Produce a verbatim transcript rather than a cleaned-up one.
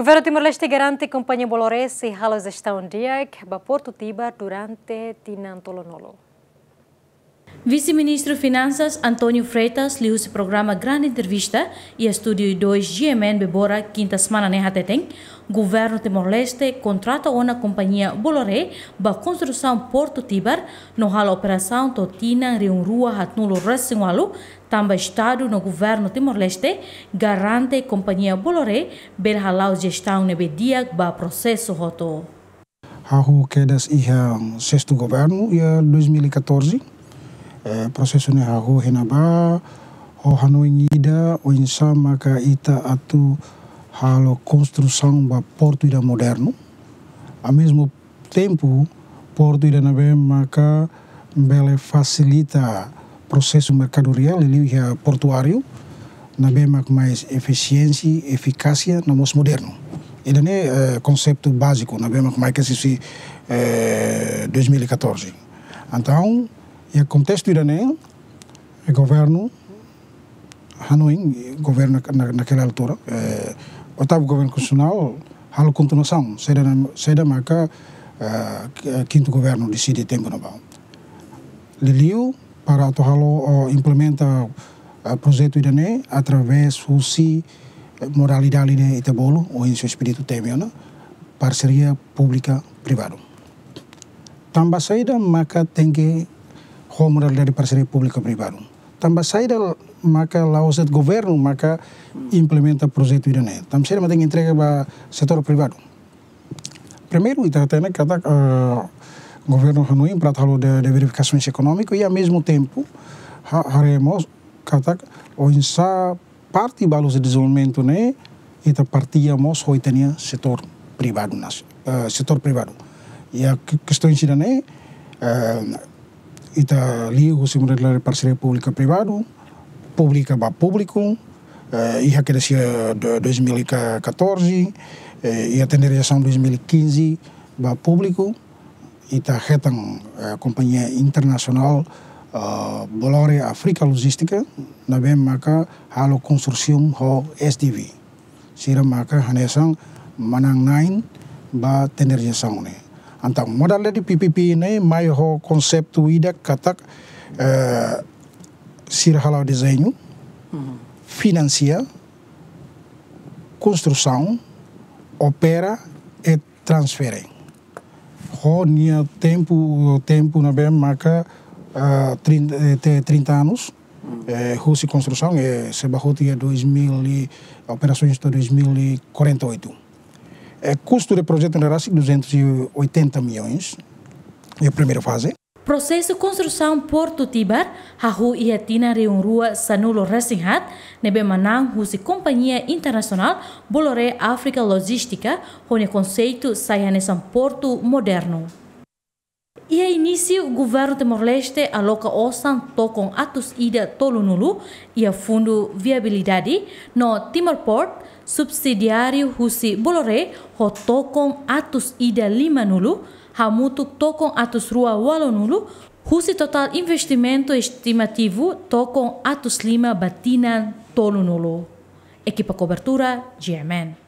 Governu Timor-Leste garante kompañia Bolloré sei halo jestaun di'ak ba Portu Tibar durante tinan tolunulu. Vise-Ministru Finansas António Freitas liuhusi programa Grande Entrevista iha Estúdiu dois G M N Bebora, kinta semana ne'e hateten, Governu Timor-Leste kontrata ona kompañia Bolloré ba konstrusaun Portu Tibar no halo operasaun to'o tinan rihun rua haatnulu resin ualu, tanba Estadu no Governu Timor-Leste garante kompañia Bolloré bele hala'o jestaun ne'ebé di'ak ba prosesu hotu. Hahú kedas iha sestu governu iha dois mil e catorze. Eh, prosesu ne'e hahú iha ne'ebá, ho hanoin ida oinsá maka ita atu halo konstrusaun ba portu ida modernu. Ao mesmo tempo, portu ida ne'ebé maka bele fasilita prosesu merkadoria, liuliu iha portuáriu, ne'ebé mak mais efisiénsia, efikásia, no mós modernu. Ida-ne'e, eh, konseitu báziku, ne'ebé mak mai kedas husi, eh, dois mil e catorze. Entaun, iha kontestu ida-ne'e, eh, governu hanoin, governu na, na, naquela altura, eh, oitavu governu konstitusionál halo kontinuasaun, saida na, saida maka, eh, kintu governu deside tempu ne'ebá. Liuliu para atu halo, ou implementa, eh, projetu ida-ne'e através husi, eh, modalidade ne'e ita bolu, ou iha espíritu temi ona, parseria públika privadu. Tanba saida maka tenke ho modalidade parseria públika privadu? Tanba saida maka la'ós de'it governu maka implementa projetu ida-ne'e? Tanba saida maka tenke entrega ba setór privadu? Primeiru, ita hatene katak, eh, governu hanoin para halo de, de verifikasaun ekonómiku i, ao mesmo tempo, ha-, haree mós katak oinsá parte balu husi dezenvolvimentu ne'e, ita partilha mós ho ita-nia setór privadu nas-, eh, setór privadu. Iha ke-, kestaun ida-ne'e, eh, ita liuhusi modalidade parseria públika privadu, públika ba públiku, eh, iha kedas iha do-, dois mil e catorze, eh, iha tenderizasaun dois mil e quinze ba públiku, ita hetan, eh, kompañia internasionál, eh, Bolloré Africa Logística, ne'ebé maka halo konstrusaun ho S D V. Sira maka hanesan manán-na'in ba tenderizasaun ne'e. Entaun, modalidade P P P ne'e mai ho konseitu ida katak, eh, sira hala'o dezeñu, finansia, konstrusaun, opera i transfere. Ho nia tempu, tempu ne'ebé maka, ah, trinta, eh, te trinta anos, eh, husi konstrusaun, eh, sei ba hotu iha dois mil e, operasaun to'o dois mil e quarenta e oito. Eh, kustu de projetu ne'e rasik duzentos e oitenta milhões, iha primeira faze. Prosesu konstrusaun Portu Tibar hahú iha tinan rihun rua sanulu resin haat, ne'ebé manán husi kompañia internasionál Bolloré Africa Logística, ho nia konseitu sai hanesan portu modernu. Iha inísiu, Governu Timor-Leste aloka osan tokon atus ida tolunulu iha Fundu Viabilidade, no Timor Port, subsidiáriu husi Bolloré, ho tokon atus ida limanulu, hamutuk tokon atus rua ualunulu, husi totál investimentu estimativu tokon atus lima ba tinan tolunulu. Ekipa kobertura, G M N.